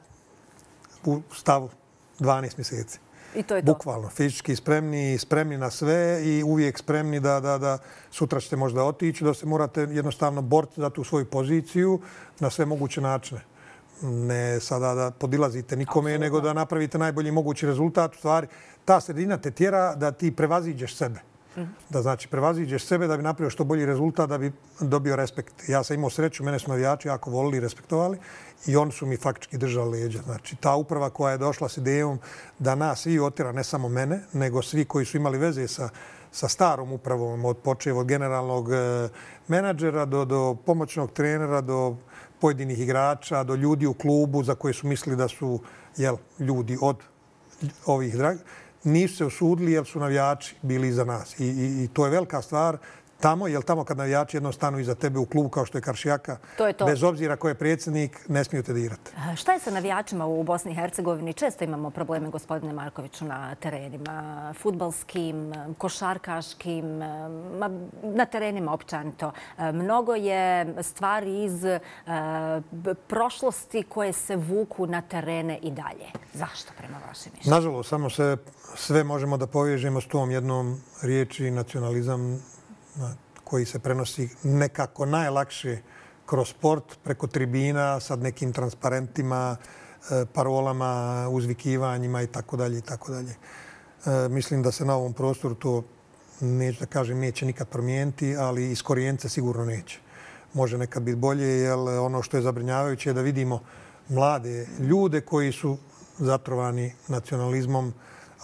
biti u stavu dvanaest mjeseci. I to je to. Bukvalno. Fizički spremni, spremni na sve i uvijek spremni da, da, da sutra ćete možda otići, da se morate jednostavno boriti za tu svoju poziciju na sve moguće načine. Ne sada da podilazite nikome, Absolutno. nego da napravite najbolji mogući rezultat. U stvari, ta sredina te tjera da ti prevaziđeš sebe. Mm-hmm. Da znači prevaziđeš sebe da bi napravio što bolji rezultat, da bi dobio respekt. Ja sam imao sreću, mene su navijači jako volili i respektovali i oni su mi faktički držali leđa. Znači, ta uprava koja je došla s idejom da nas svi otjera, ne samo mene, nego svi koji su imali veze sa, sa starom upravom, od počev od generalnog menadžera do, do pomoćnog trenera, do pojedinih igrača, do ljudi u klubu za koje su mislili da su jel, ljudi od ovih drag, nisu se usudili jer su navijači bili iza nas. I, i, i to je velika stvar tamo, jer tamo kad navijači jednom stanu iza tebe u klubu kao što je Karšijaka, to je to. Bez obzira ko je predsjednik, ne smiju te dirati. Šta je sa navijačima u Bosni i Hercegovini? Često imamo probleme, gospodine Markoviću, na terenima, fudbalskim, košarkaškim, na terenima općanito. Mnogo je stvari iz prošlosti koje se vuku na terene i dalje. Zašto, prema vašem mišljenju? Nažalost, samo se sve možemo da povežemo s tom jednom riječi nacionalizam koji se prenosi nekako najlakše kroz sport, preko tribina, sad nekim transparentima, parolama, uzvikivanjima i tako dalje i tako dalje. Mislim da se na ovom prostoru to, neću da kažem, neće nikad promijeniti, ali iz korijence sigurno neće. Može nekad biti bolje, jer ono što je zabrinjavajuće je da vidimo mlade ljude koji su zatrovani nacionalizmom,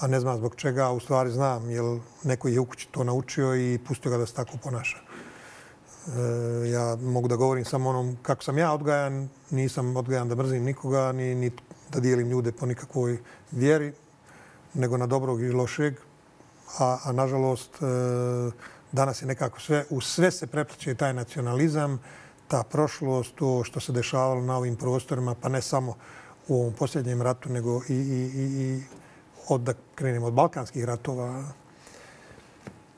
a ne znam zbog čega, a u stvari znam, jer neko je u kući to naučio i pustio ga da se tako ponaša. E, ja mogu da govorim samo onom kako sam ja odgajan, nisam odgajan da mrzim nikoga, ni, ni da dijelim ljude po nikakvoj vjeri, nego na dobrog i lošeg. a, a nažalost danas je nekako sve, u sve se prepliče taj nacionalizam, ta prošlost, to što se dešavalo na ovim prostorima, pa ne samo u ovom posljednjem ratu, nego i, i, i od, da krenemo od balkanskih ratova.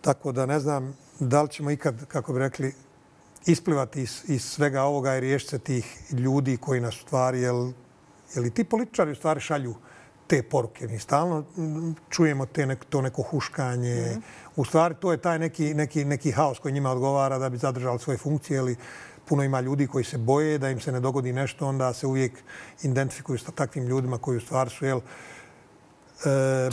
Tako da ne znam da li ćemo ikad, kako bi rekli, isplivati iz, iz svega ovoga i riješiti se tih ljudi koji nas u stvari, jel, jel i ti političari u stvari šalju te poruke. Mi stalno čujemo te nek, to neko huškanje. Mm-hmm. U stvari to je taj neki, neki, neki haos koji njima odgovara da bi zadržali svoje funkcije. Ili puno ima ljudi koji se boje da im se ne dogodi nešto, onda se uvijek identifikuju sa takvim ljudima koji u stvari su jel, e,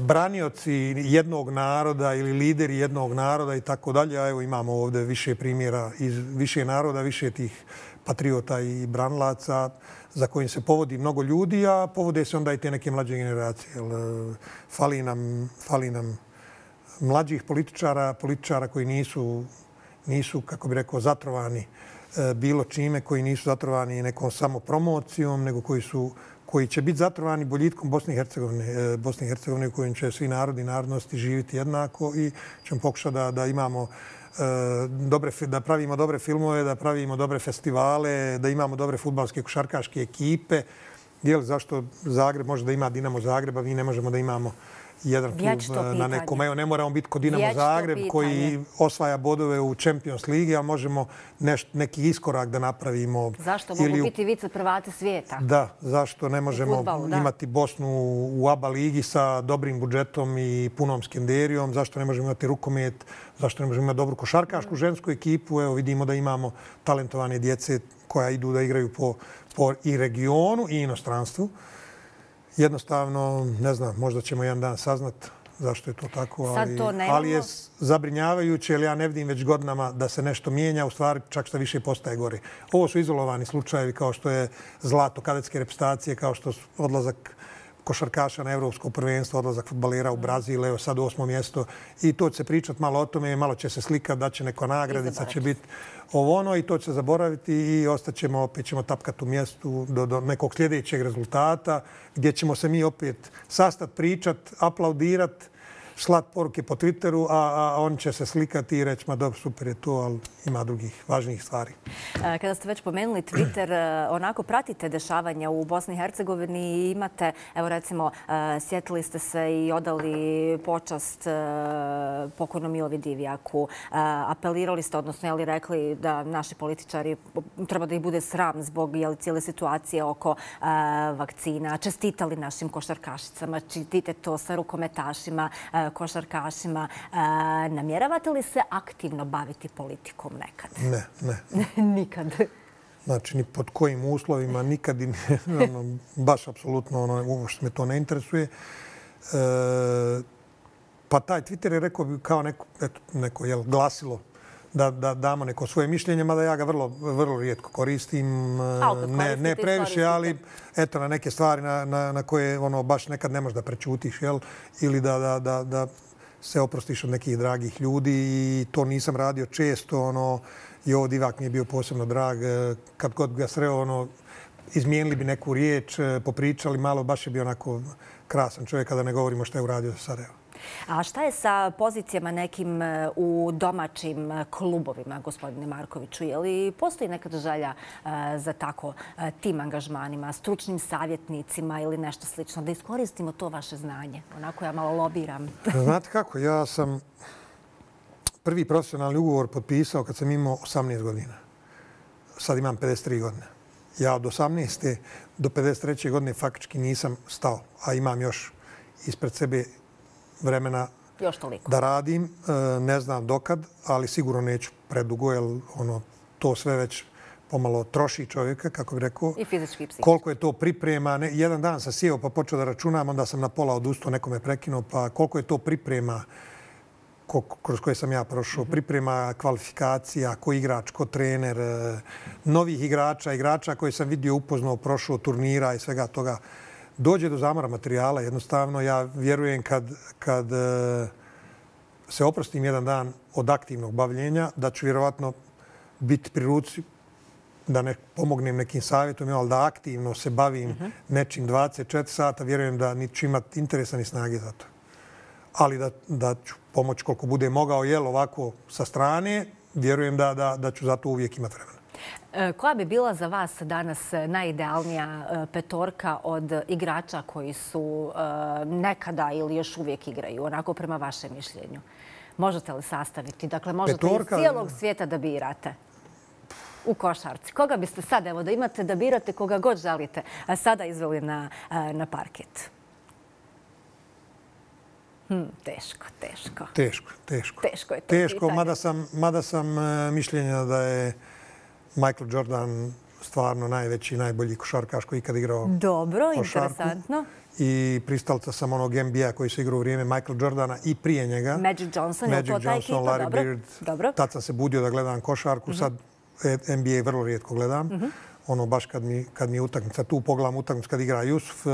branioci jednog naroda ili lideri jednog naroda i tako dalje. A evo imamo ovdje više primjera iz više naroda, više tih patriota i branilaca za kojim se povodi mnogo ljudi, a povode se onda i te neke mlađe generacije. Fali nam, fali nam mlađih političara, političara koji nisu, nisu, kako bi rekao, zatrovani bilo čime, koji nisu zatrovani nekom samopromocijom, nego koji su koji će biti zatrovani boljitkom Bosne i Hercegovine, Bosne i Hercegovine u kojim će svi narodi i narodnosti živjeti jednako i ćemo pokušati da, da imamo dobre, da pravimo dobre filmove, da pravimo dobre festivale, da imamo dobre fudbalske košarkaške ekipe. Jel, zašto Zagreb može da ima Dinamo Zagreb, a mi ne možemo da imamo jedan klub na nekom. Evo, ne moramo biti kod Dinamo Zagreb koji osvaja bodove u Champions Ligi, a možemo neš, neki iskorak da napravimo. Zašto mogu ili, biti vice prvati svijeta? Da, zašto ne možemo futbalu, imati Bosnu u A B A ligi sa dobrim budžetom i punom skenderijom? Zašto ne možemo imati rukomet? Zašto ne možemo imati dobru košarkašku žensku ekipu? Evo, vidimo da imamo talentovane djece koja idu da igraju po, po i regionu i inostranstvu. Jednostavno, ne znam, možda ćemo jedan dan saznat zašto je to tako, ali, ali je zabrinjavajuće, jer ja ne vidim već godinama da se nešto mijenja, u stvari čak što više postaje gore. Ovo su izolovani slučajevi kao što je zlato kadetske reprezentacije, kao što su odlazak košarkaša na evropsko prvenstvo, odlazak fudbalera u Brazil, evo sad osmo mjesto. I to će se pričati malo o tome, malo će se slikati, da će neko nagradica, će biti ovo ono i to će se zaboraviti i ostaćemo, opet ćemo tapkati u mjestu do, do nekog sljedećeg rezultata gdje ćemo se mi opet sastati, pričati, aplaudirati, slat poruke po Twitteru, a, a on će se slikati i reći, ma dobro, super je to, ali ima drugih važnijih stvari. Kada ste već pomenuli Twitter, onako pratite dešavanja u Bosni i Hercegovini i imate, evo recimo, sjetili ste se i odali počast pokojnom Milovi Divjaku. Apelirali ste, odnosno je li rekli da naši političari treba da ih bude sram zbog je li, cijele situacije oko vakcina. Čestitali našim košarkašicama, čestite to sa rukometašima, košarkašima. Namjeravate li se aktivno baviti politikom nekad? Ne, ne. Nikad? Znači, ni pod kojim uslovima, nikad i ono, baš apsolutno ono, uopšte me to ne interesuje. E, pa taj Twitter je rekao bi kao neko, eto, neko jel, glasilo da, da damo neko svoje mišljenje, mada ja ga vrlo, vrlo rijetko koristim. Ne, ne previše, ali eto, na neke stvari na, na, na koje ono, baš nekad ne možeš da prečutiš, jel? Ili da, da, da, da se oprostiš od nekih dragih ljudi i to nisam radio često. Ono, i ovo Divjak mi je bio posebno drag. Kad god ga sreo, ono, izmijenili bi neku riječ, popričali malo, baš je bio onako krasan čovjek kada ne govorimo što je uradio za Sarajevo. A šta je sa pozicijama nekim u domaćim klubovima, gospodine Markoviću? Je li postoji nekada želja za tako tim angažmanima, stručnim savjetnicima ili nešto slično, da iskoristimo to vaše znanje? Onako ja malo lobiram. Znate kako, ja sam prvi profesionalni ugovor potpisao kad sam imao osamnaest godina. Sad imam pedeset tri godine. Ja od osamnaeste do pedeset treće godine faktički nisam stao, a imam još ispred sebe vremena da radim. Ne znam dokad, ali sigurno neću predugo, jer ono, to sve već pomalo troši čovjeka, kako bih rekao. I fizički i psihički. Koliko je to priprema. Ne, jedan dan sam sjeo pa počeo da računam, onda sam na pola odustao, nekome prekinuo, pa koliko je to priprema ko, kroz koje sam ja prošao. Mm-hmm. Priprema kvalifikacija, ko igrač, ko trener, novih igrača, igrača koje sam vidio, upoznao, prošao turnira i svega toga. Dođe do zamora materijala. Jednostavno, ja vjerujem kad, kad se oprostim jedan dan od aktivnog bavljenja, da ću vjerovatno biti pri ruci da ne pomognem nekim savjetom, ali da aktivno se bavim uh-huh. nečim dvadeset četiri sata, vjerujem da niti ću imati interesa ni snage za to. ali da, da ću pomoći koliko bude mogao, jel, ovako sa strane, vjerujem da, da, da ću za to uvijek imati vremena. Koja bi bila za vas danas najidealnija petorka od igrača koji su nekada ili još uvijek igraju, onako prema vašem mišljenju? Možete li sastaviti? Dakle, možete Petorka... iz cijelog svijeta da birate u košarci. Koga biste sad, evo da imate da birate koga god želite, sada izveli na, na parket? Hmm, teško, teško. Teško, teško. Teško je to Teško, pitanje. mada sam, mada sam mišljenja da je Michael Jordan stvarno najveći, najbolji košarkaš koji ikad igrao Dobro, košarku. interesantno. I pristalica sam onog N B A koji se igrao u vrijeme Michael Jordana i prije njega. Magic Johnson, je to ta ekipa? Larry Dobro. Bird. Dobro. Tad sam se budio da gledam košarku, sad N B A vrlo rijetko gledam. Ono baš kad mi, kad mi je utakmica, tu pogledam utakmicu kad igra Jusuf,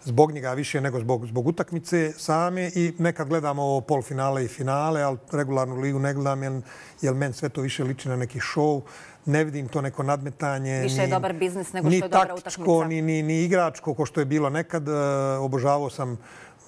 zbog njega više nego zbog, zbog utakmice same i nekad gledam ovo polfinale i finale, ali regularnu ligu ne gledam jer, jer meni sve to više liči na neki show. Ne vidim to neko nadmetanje. Više je ni, dobar biznis nego što je dobra utakmica. Ni taktičko, ni, ni, ni igračko, ko što je bilo nekad. Obožavao sam,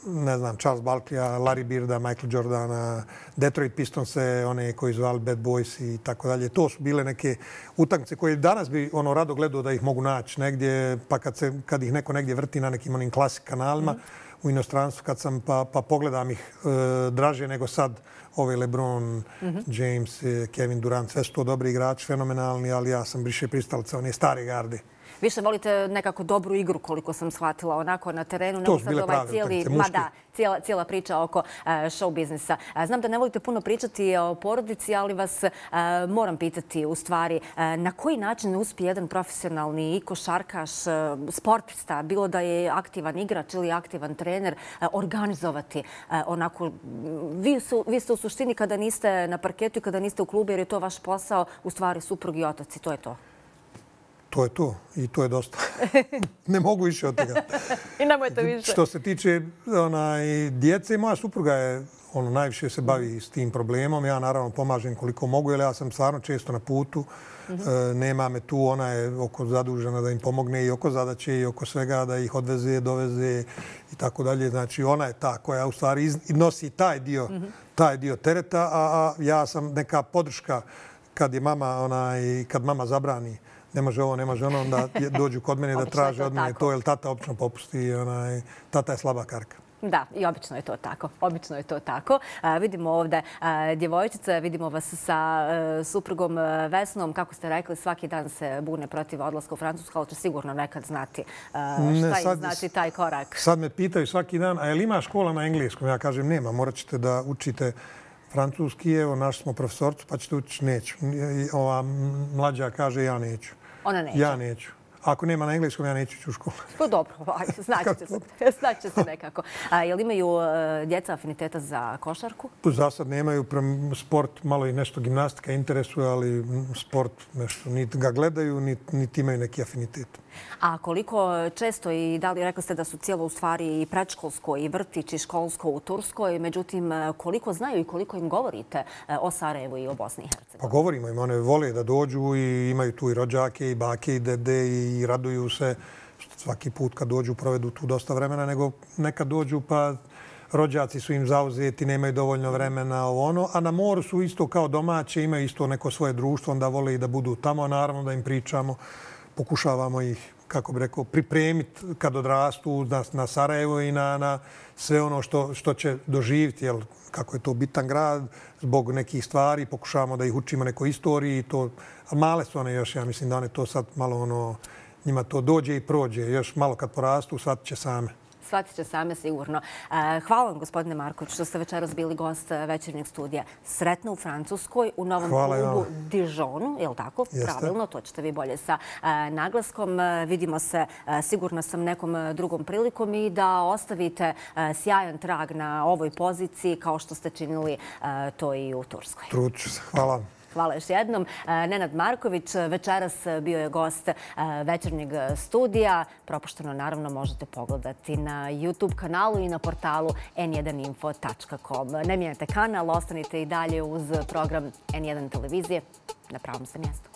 ne znam, Charles Barkleya, Larry Birda, Michael Jordana, Detroit Pistonse, one koji zvali Bad Boys i tako dalje. To su bile neke utakmice koje danas bi ono rado gledao da ih mogu naći negdje, pa kad, se, kad ih neko negdje vrti na nekim onim klasik kanalima, mm. u inostranstvu kad sam, pa, pa pogledam ih e, draže nego sad ove LeBron, mm-hmm. James, Kevin Durant, sve su to dobri igrači, fenomenalni, ali ja sam više pristalica one stare garde. Više volite nekako dobru igru, koliko sam shvatila, onako na terenu. To su bile prave utakmice, muške. Ma da, cijela, cijela priča oko uh, show biznisa. Uh, znam da ne volite puno pričati o porodici, ali vas uh, moram pitati u stvari uh, na koji način uspije jedan profesionalni i košarkaš, uh, sportista, bilo da je aktivan igrač ili aktivan trener, uh, organizovati uh, onako... Vi, su, vi ste u suštini kada niste na parketu i kada niste u klubu, jer je to vaš posao, u stvari suprug i otac i to je to. To je to i to je dosta. Ne mogu više od toga. I nemojte više. Što se tiče onaj, djece, moja supruga je ono, najviše se bavi s tim problemom. Ja naravno pomažem koliko mogu, jer ja sam stvarno često na putu. Mm-hmm. E, nema me tu, ona je oko zadužena da im pomogne i oko zadaće i oko svega, da ih odveze, doveze i tako dalje. Znači ona je ta koja u stvari iz, nosi taj dio, mm-hmm. taj dio tereta, a, a ja sam neka podrška kad je mama, onaj, kad mama zabrani ne može ovo, ne može ono, onda dođu kod mene da traže od mene to, jer tata obično popusti, onaj, tata je slaba karka. Da, i obično je to tako. Obično je to tako. A, vidimo ovdje a, djevojčice, vidimo vas sa a, suprugom Vesnom. Kako ste rekli, svaki dan se bune protiv odlaska u Francusku, ali će sigurno nekad znati a, šta ne, sad, im znači taj korak. Sad me pitaju svaki dan, a je li ima škola na engleskom? Ja kažem, nema, morat ćete da učite francuski. Evo, naš smo profesorcu, pa ćete učiti, neću. Ova mlađa kaže, ja neću. Ona neće? Ja neću. Ako nema na engleskom, ja neću ići u školu. To dobro, znaće se, znaće se nekako. A je li imaju djeca afiniteta za košarku? Za sad nemaju. Sport, malo i nešto gimnastika interesuje, ali sport nešto niti ga gledaju, niti, niti imaju neki afinitet. A koliko često i da li rekli ste da su cijelo u stvari i predškolsko i vrtić i školsko u Turskoj, međutim koliko znaju i koliko im govorite o Sarajevu i o Bosni i Hercegovini? Pa govorimo im, one vole da dođu i imaju tu i rođake i bake i dede i raduju se svaki put kad dođu provedu tu dosta vremena, nego nekad dođu pa rođaci su im zauzeti, nemaju dovoljno vremena, ovo ono, a na moru su isto kao domaće, imaju isto neko svoje društvo, onda vole i da budu tamo, a naravno da im pričamo. Pokušavamo ih, kako bi rekao, pripremiti kad odrastu na, na Sarajevo i na, na sve ono što, što će doživjeti, jel, kako je to bitan grad, zbog nekih stvari. Pokušavamo da ih učimo nekoj istoriji. To, a male su one još, ja mislim da one to sad malo ono, njima to dođe i prođe. Još malo kad porastu, shvatit će same. Shvatit će same sigurno. Hvala vam, gospodine Marković, što ste večeras bili gost Večernjeg studija. Sretno u Francuskoj, u novom Hvala klubu Dijonu, je li tako? Jeste. Pravilno, to ćete vi bolje sa naglaskom. Vidimo se, sigurno sam, nekom drugom prilikom i da ostavite sjajan trag na ovoj poziciji kao što ste činili to i u Turskoj. Trudit ću se. Hvala. Hvala još jednom. Nenad Marković večeras bio je gost Večernjeg studija. Propušteno naravno možete pogledati na YouTube kanalu i na portalu en jedan info tačka com. Ne mijenjate kanal, ostanite i dalje uz program en jedan televizije na pravom se mjestu.